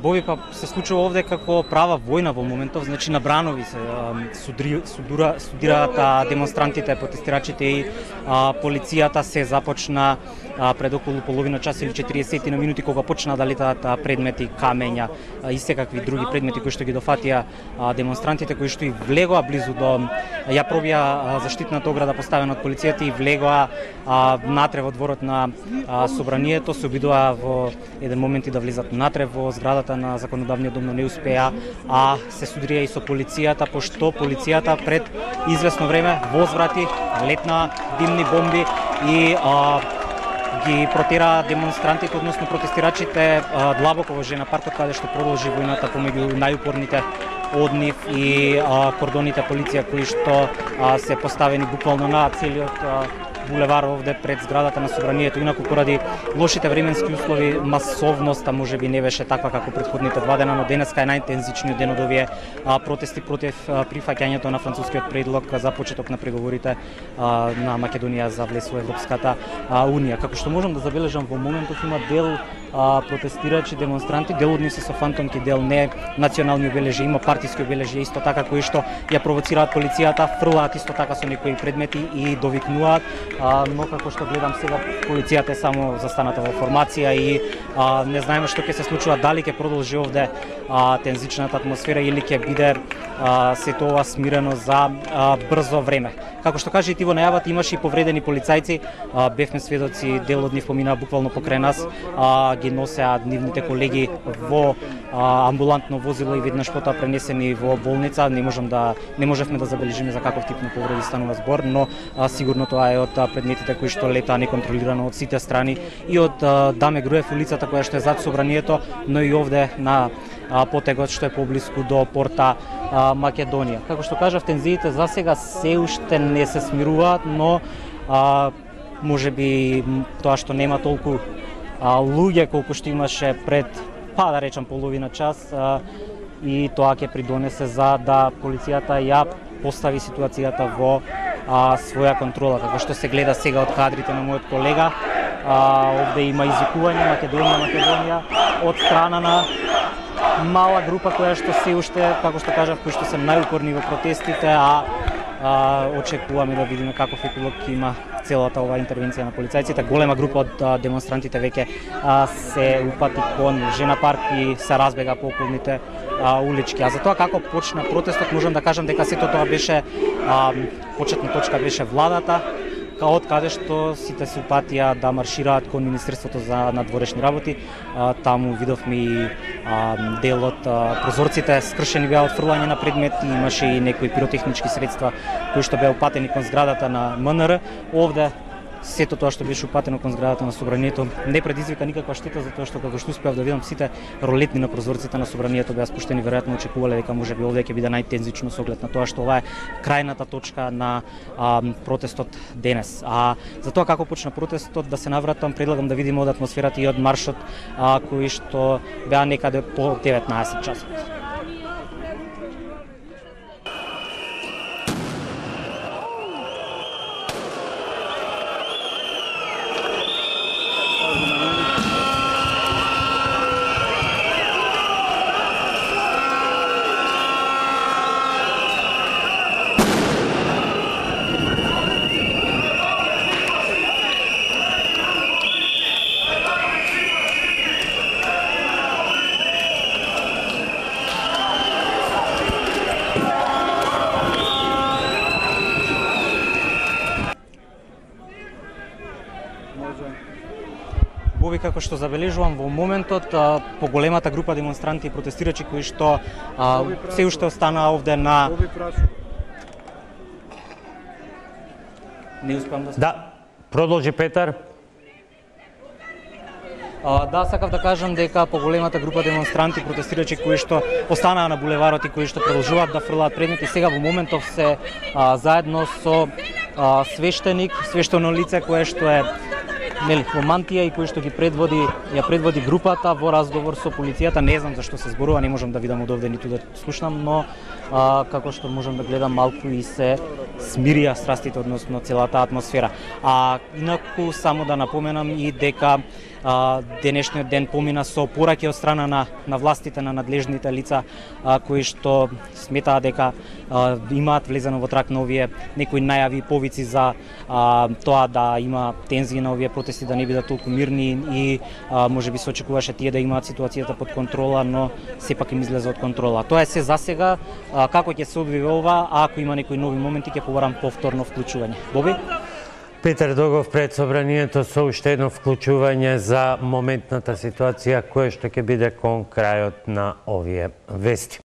Боби па се случува овде како права војна во моментов, значи на бранови се студираат демонстрантите, протестирачите и полицијата. Се започна пред околу половина час или 40 на минути кога почна да летаат предмети, камења и секакви други предмети кои што ги дофатија демонстрантите, кои што и влегоа близу до ја пробија заштитната ограда поставена од полицијата и влегоа натре во дворот на собранието. Се обидуваа во еден момент и да влезат натре во зградата на законодавниот дом, но не успеа, а се судирија и со полицијата, пошто полицијата пред извесно време возврати, летна димни бомби и ги протера демонстрантите, односно протестирачите длабоко во Жена паркот, каде што продолжи војната помеѓу најупорните од нив и кордоните полиција кои што се поставени буквално на целиот булевар овде пред зградата на собранието. Инаку поради лошите временски услови масовноста можеби не беше таква како претходните 2 дена, но денеска е најинтензичниот ден од овие протести против прифаќањето на францускиот предлог за почеток на преговорите на Македонија за влез во Европската унија. Како што можам да забележам во моментов има дел протестирачи, демонстранти, дел од нив се со фантомки, дел не национални обележи, има партиски обележи исто така кои што ја провоцираат полицијата, фрлаат исто така со некои предмети и довикнуваат, но како што гледам сега полицијата е само застаната во формација и не знаеме што ќе се случува, дали ќе продолжи овде тензичната атмосфера или ќе биде сето ова смирено за брзо време. Како што кажа и ти во најавата, имаше и повредени полицајци, бевме сведоци, дел од нив помина буквално покрај нас, ги носеа нивните колеги во амбулантно возило и веднаш потоа пренесени во болница. Не можевме да забележиме за каков тип на повреди станува збор, но сигурно тоа е од предметите кои што летаа неконтролирано од сите страни и од Даме Груев улицата која што е зад собранието, но и овде на потегот што е поблиску до порта Македонија. Како што кажав, тензиите за сега се уште не се смируваат, но можеби тоа што нема толку луѓе колку што имаше пред, да речам, половина час, и тоа ќе придонесе за да полицијата ја постави ситуацијата во своја контрола. Како што се гледа сега од кадрите на мојот колега, овде има извикување Македонија од страна на мала група која што се уште, како што кажав, кои што се најупорни во протестите, очекуваме да видиме каков епилог има целата оваа интервенција на полицајците. Голема група од демонстрантите веќе се упати кон Жена парк и се разбега по околните улички. А за тоа како почна протестот, можам да кажам дека сето тоа беше почетна точка беше владата, од каде што сите се упатија да маршираат кон Министерството за надворешни работи. Таму видовме и дел од прозорците скршени беа од фрлање на предмети, имаше и некои пиротехнички средства кои што беа упатени кон зградата на МНР. Овде сето тоа што беше упатено кон зградата на собранието не предизвика никаква штета, затоа што како што успеав да видам, сите ролетни на прозорците на собранието беа спуштени, веројатно очекувале дека можеби овде ќе биде најтензично со оглед на тоа што ова е крајната точка на протестот денес. За тоа како почна протестот, да се навратам, предлагам да видиме од атмосферата и од маршот кои што беа некаде по 19 часот. Боби, како што забележувам во моментот, поголемата група демонстранти и протестирачи кои што се уште останаа овде на... Не успеам да... Продолжи Петар. Сакав да кажам дека поголемата група демонстранти, протестирачи кои што останаа на булеварот и кои што продолжуваат да фрлаат предмети, сега во моментов се заедно со свештено лице кое што е во мантија и кој што ја предводи групата во разговор со полицијата. Не знам за што се зборува, не можам да видам од овде ниту да слушнам, но како што можам да гледам, малку и се смирија страстите, односно целата атмосфера. Инаку само да напоменам и дека денешниот ден помина со пораки од страна на властите, на надлежните лица кои што сметаат дека имаат влезено во трак на овие некои најави и повици за тоа да има тензии на овие протести, да не бидат толку мирни и можеби се очекуваше тие да имаат ситуацијата под контрола, но сепак им излезе од контрола. Тоа е се за сега. Како ќе се одвие ова, а ако има некои нови моменти ќе побарам повторно вклучување. Боби? Петар Догов пред собранието со уште едно вклучување за моментната ситуација која што ќе биде кон крајот на овие вести.